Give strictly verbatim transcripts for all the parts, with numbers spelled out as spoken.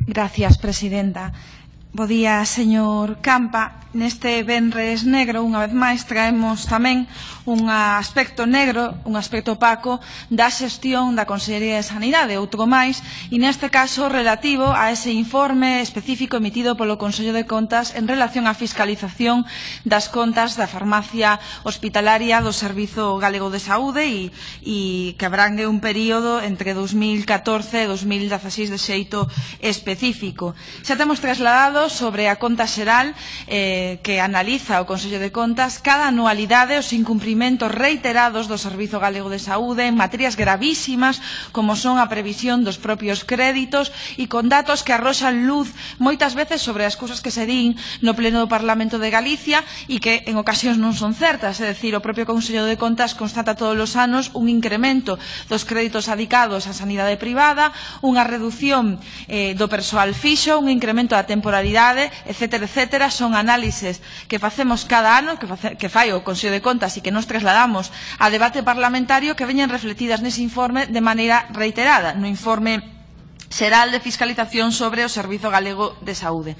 Gracias, presidenta. Bo día, señor Campa. Neste Venres Negro, unha vez máis, traemos tamén un aspecto negro, un aspecto opaco da xestión da Consellería de Sanidade, outro máis, e neste caso relativo a ese informe específico emitido polo Consello de Contas en relación á fiscalización das contas da farmacia hospitalaria do Servizo Galego de Saúde e, e que abrangue un período entre dos mil catorce e dos mil dieciséis de xeito específico. Xa temos trasladado sobre a conta xeral eh, que analiza o Consello de Contas cada anualidade os incumprimentos reiterados do Servizo Galego de Saúde en materias gravísimas como son a previsión dos propios créditos e con datos que arroxan luz moitas veces sobre as cousas que se din no Pleno do Parlamento de Galicia e que en ocasións non son certas, é dicir, o propio Consello de Contas constata todos os anos un incremento dos créditos adicados á sanidade privada, unha reducción eh, do persoal fixo, un incremento da temporalidade, etcétera, etcétera. Son análises que facemos cada ano, que, face, que fai o Consello de Contas e que nos trasladamos a debate parlamentario que veñen refletidas nese informe de maneira reiterada, no informe xeral de fiscalización sobre o Servizo Galego de Saúde.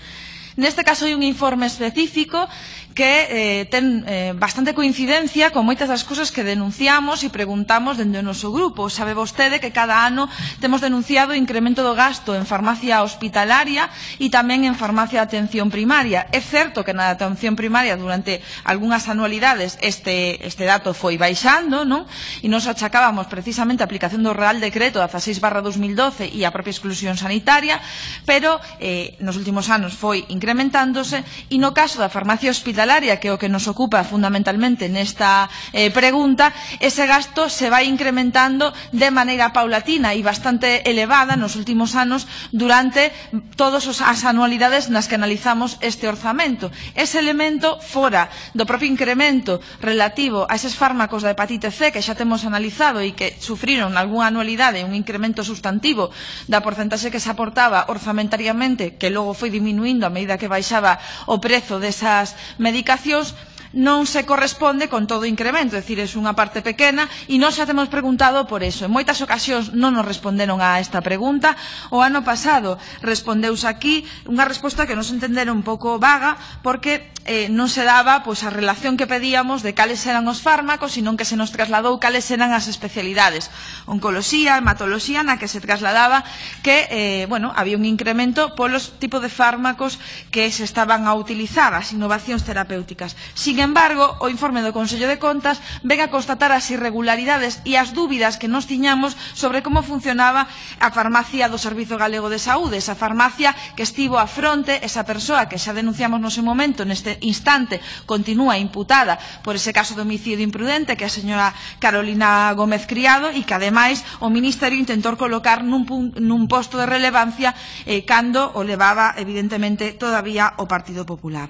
Neste caso hai un informe específico que eh, ten eh, bastante coincidencia con moitas das cousas que denunciamos e preguntamos dende o noso grupo. Sabe vostede que cada ano temos denunciado o incremento do gasto en farmacia hospitalaria e tamén en farmacia de atención primaria. É certo que na atención primaria durante algunhas anualidades este, este dato foi baixando, non? E nos achacábamos precisamente a aplicación do Real Decreto dieciséis barra dos mil doce e a propia exclusión sanitaria, pero eh, nos últimos anos foi incrementándose e no caso da farmacia hospitalaria, que é o que nos ocupa fundamentalmente nesta eh, pregunta, ese gasto se vai incrementando de maneira paulatina e bastante elevada nos últimos anos durante todas as anualidades nas que analizamos este orzamento. Ese elemento fora do propio incremento relativo a eses fármacos da hepatite C que xa temos analizado e que sufriron algunha anualidade un incremento sustantivo da porcentaxe que se aportaba orzamentariamente, que logo foi diminuindo a medida que baixaba o prezo desas medicacións, non se corresponde con todo o incremento, é dicir, é unha parte pequena e nós xa temos preguntado por eso. En moitas ocasións non nos responderon a esta pregunta. O ano pasado respondeuse aquí unha resposta que nos entenderon un pouco vaga porque eh, non se daba pois, a relación que pedíamos de cales eran os fármacos, senón que se nos trasladou cales eran as especialidades. Oncoloxía, hematoloxía, na que se trasladaba que eh, bueno, había un incremento polos tipos de fármacos que se estaban a utilizar, as innovacións terapéuticas. Sin embargo, o informe do Consello de Contas ven a constatar as irregularidades e as dúbidas que nos tiñamos sobre como funcionaba a farmacia do Servizo Galego de Saúde, esa farmacia que estivo a fronte, esa persoa que xa denunciamos no seu momento, neste instante continúa imputada por ese caso de homicidio imprudente, que é a señora Carolina Gómez Criado, e que ademais o Ministerio intentou colocar nun, nun posto de relevancia eh, cando o levaba evidentemente todavía o Partido Popular.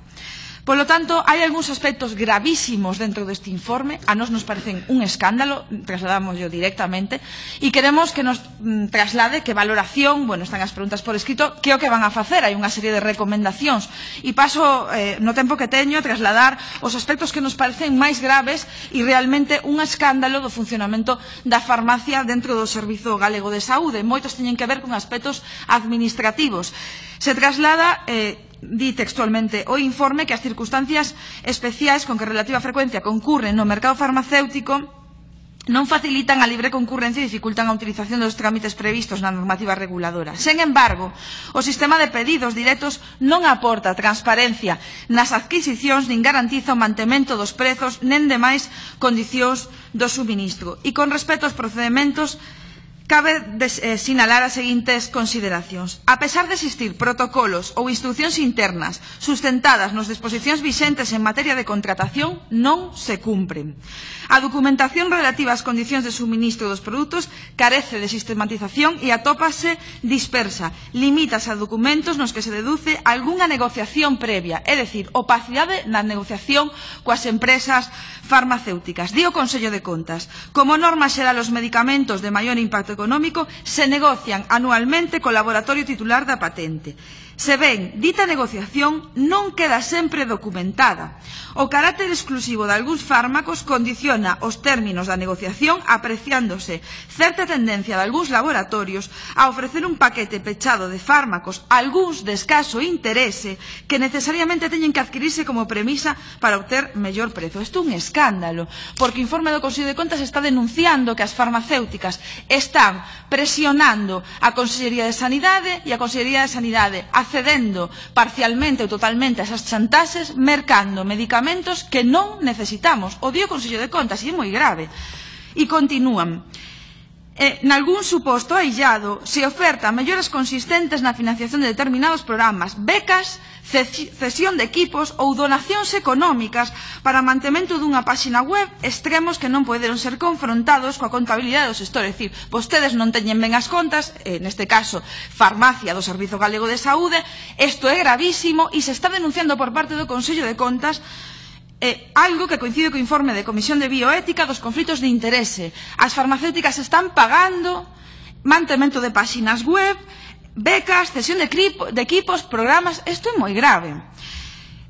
Polo tanto, hai algúns aspectos gravísimos dentro deste informe, a nós nos parecen un escándalo, trasladámoslo directamente, e queremos que nos mm, traslade que valoración, bueno, están as preguntas por escrito, que é o que van a facer, hai unha serie de recomendacións, e paso, eh, no tempo que teño, a trasladar os aspectos que nos parecen máis graves e realmente un escándalo do funcionamento da farmacia dentro do Servizo Galego de Saúde. Moitos teñen que ver con aspectos administrativos. Se traslada... Eh, di textualmente o informe que as circunstancias especiais con que relativa frecuencia concurren no mercado farmacéutico non facilitan a libre concurrencia e dificultan a utilización dos trámites previstos na normativa reguladora. Sen embargo, o sistema de pedidos directos non aporta transparencia nas adquisicións nin garantiza o mantemento dos prezos nen demais condicións do suministro. E con respecto aos procedementos, cabe des, eh, sinalar as seguintes consideracións. A pesar de existir protocolos ou instruccións internas sustentadas nas disposicións vixentes en materia de contratación, non se cumpren. A documentación relativa ás condicións de suministro dos produtos carece de sistematización e atópase dispersa. Limítase a documentos nos que se deduce algunha negociación previa, é dicir, opacidade na negociación coas empresas farmacéuticas. Di o Consello de Contas, como norma xeral os medicamentos de maior impacto económico se negocian anualmente co laboratorio titular da patente. Se ben, dita negociación non queda sempre documentada. O carácter exclusivo de algúns fármacos condiciona os términos da negociación, apreciándose certa tendencia de algúns laboratorios a ofrecer un paquete pechado de fármacos, algúns de escaso interese, que necesariamente teñen que adquirirse como premisa para obter mellor prezo. Isto é un escándalo, porque o informe do Consello de Contas está denunciando que as farmacéuticas están presionando a Consellería de Sanidade e a Consellería de Sanidade accedendo parcialmente ou totalmente a esas chantaxes, mercando medicamentos que non necesitamos. O dio o Consello de Contas e é moi grave. E continúan. Eh, nalgún suposto aillado se oferta melloras consistentes na financiación de determinados programas, becas, cesión de equipos ou donacións económicas para mantemento dunha páxina web, extremos que non poderon ser confrontados coa contabilidade do sector. É dicir, vostedes non teñen ben as contas, eh, neste caso, farmacia do Servizo Galego de Saúde, isto é gravísimo e se está denunciando por parte do Consello de Contas Eh, algo que coincide co informe de Comisión de Bioética dos conflitos de interese. As farmacéuticas están pagando mantemento de páxinas web, becas, cesión de, de equipos, programas. Isto é moi grave.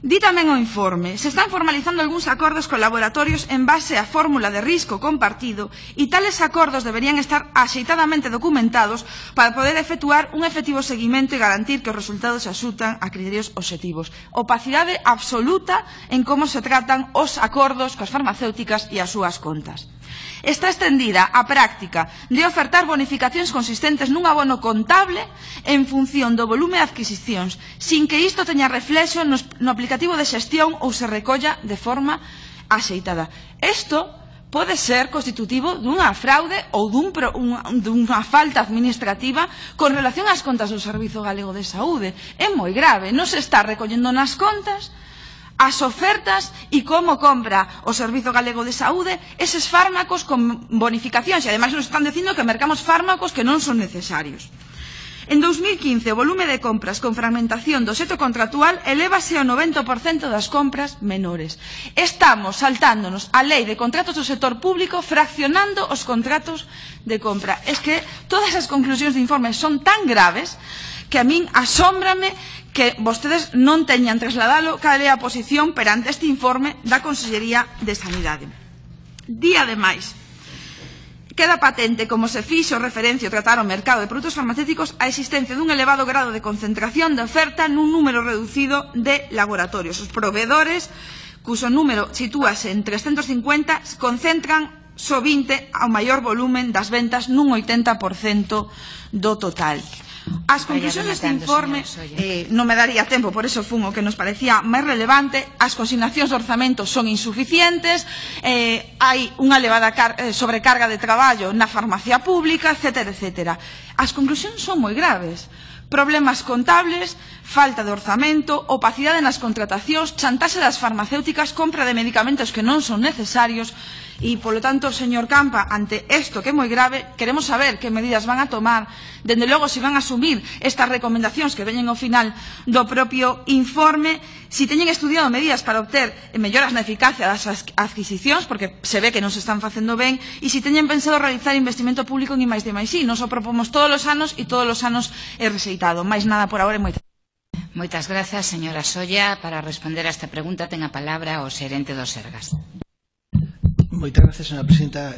Di tamén o informe, se están formalizando algúns acordos con laboratorios en base á fórmula de risco compartido e tales acordos deberían estar axeitadamente documentados para poder efectuar un efectivo seguimento e garantir que os resultados se axutan a criterios obxectivos. Opacidade absoluta en como se tratan os acordos coas farmacéuticas e as súas contas. Está extendida a práctica de ofertar bonificacións consistentes nun abono contable en función do volume de adquisicións, sin que isto teña reflexo no aplicativo de xestión ou se recolla de forma axeitada. Isto pode ser constitutivo dunha fraude ou dun, un, dunha falta administrativa con relación ás contas do Servizo Galego de Saúde. É moi grave, non se está recollendo nas contas as ofertas e como compra o Servizo Galego de Saúde eses fármacos con bonificacións e ademais nos están dicindo que mercamos fármacos que non son necesarios. En dous mil quince o volume de compras con fragmentación do seto contractual elévase ao noventa por cento das compras menores. Estamos saltándonos a lei de contratos do sector público fraccionando os contratos de compra. Es que todas as conclusións do informe son tan graves que a min asómbrame que vostedes non teñan trasladalo cal é a posición perante este informe da Consellería de Sanidade. Di, ademais, queda patente como se fixo referencia ao tratar o mercado de produtos farmacéuticos a existencia dun elevado grado de concentración de oferta nun número reducido de laboratorios. Os proveedores, cuso número sitúase en trescentos cincuenta, concentran só vinte ao maior volumen das ventas nun oitenta por cento do total. As conclusións deste informe eh, non me daría tempo, por eso fun o que nos parecía máis relevante. As consignacións de orzamento son insuficientes, eh, hai unha elevada eh, sobrecarga de traballo na farmacia pública, etcétera, etcétera. As conclusións son moi graves. Problemas contables, falta de orzamento, opacidade nas contratacións, chantaxe das farmacéuticas, compra de medicamentos que non son necesarios. E, polo tanto, señor Campa, ante isto que é moi grave, queremos saber que medidas van a tomar, dende logo se van a asumir estas recomendacións que veñen ao final do propio informe, se teñen estudiado medidas para obter melloras na eficacia das adquisicións, porque se ve que non se están facendo ben, e se teñen pensado realizar investimento público en I máis D máis I. Nos o propomos todos os anos e todos os anos é rexeitado. Mais nada por agora e moitas gracias. Moitas grazas, señora Solla. Para responder a esta pregunta ten a palabra o xerente do Sergas. Moitas gracias, señora presidenta.